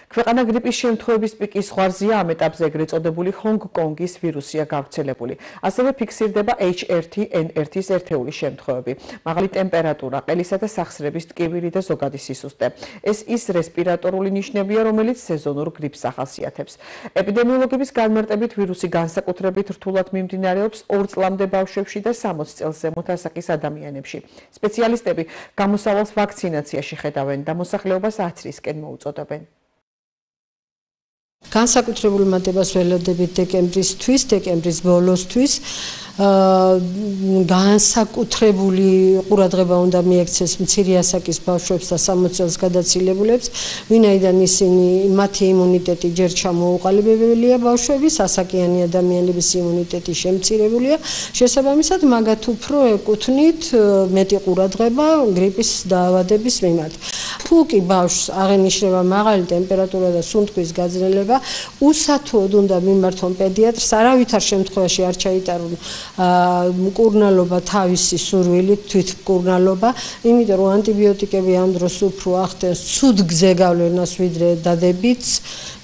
ქვეყანა გრიპის შემთხვევების პიკის ზღვარზეა, ამ ეტაპზე ეგრეთ წოდებული ჰონგ-კონგის ვირუსია გავრცელებული. ასევე ფიქსირდება H1N1-ის ერთეული შემთხვევები. მაღალი ტემპერატურა, ყელისა და სახსრების ტკივილი და ზოგადი სისუსტე. ეს ის რესპირატორული ნიშნებია, რომელიც სეზონურ გრიპს ახასიათებს. ეპიდემიოლოგების განმარტებით ვირუსი განსაკუთრებით რთულად მიმდინარეობს 2 წლამდე ბავშვებში და 60 წელს ზემოთ ასაკის ადამიანებში. სპეციალისტები გამოსავალს ვაქცინაციაში ხედავენ და მოსახლეობას 10 წლისკენ მოუწოდებენ. განსაკუთრებულ მატებას ველოდებით დეკემბრის ბოლოსთვის განსაკუთრებული ყურადღება უნდა მიექცეს მცირე ასაკის ბავშვებს და 60 წელს გადაცილებულებს, ვინაიდან მათი იმუნიტეტი ჯერ ჩამოუყალიბებელია ბავშვების, ასაკიანი ადამიანების იმუნიტეტი შემცირებულია, შესაბამისად მაგათ უფრო ეკუთვნით მეტი ყურადღება გრიპის დაავადების მიმართ. თუ კი ბავშვს აღენიშნება მაღალი ტემპერატურა და სუნთქვის გაძლეება, უსათუოდ უნდა მიმართონ პედიატრს, არავითარ შემთხვევაში არ ჩაიტარონ მკურნალობა თავისი სურვილით, თვითმკურნალობა, იმიტომ რომ ანტიბიოტიკები ამ დროს უფრო ახდენს ცუდ გზეგავლენას ვიდრე დადებითს,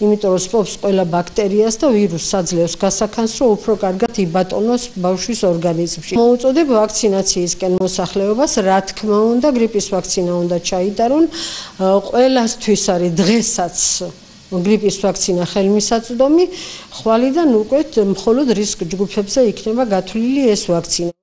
იმიტომ რომ სპობს ყველა ბაქტერიას და ვირუსს აძლევს გასახანს, რომ უფრო კარგად იბატონოს ბავშვის ორგანიზმში. მოუწოდებ ვაქცინაციისკენ მოსახლეობას, რა თქმა უნდა, გრიპის ვაქცინა უნდა ჩაიტარონ. ყველასთვის არის დღესაც გრიპის ვაქცინა ხელმისაწვდომი, ხვალიდან უკვე მხოლოდ რისკ ჯგუფებზე იქნება გათვლილი ეს ვაქცინა.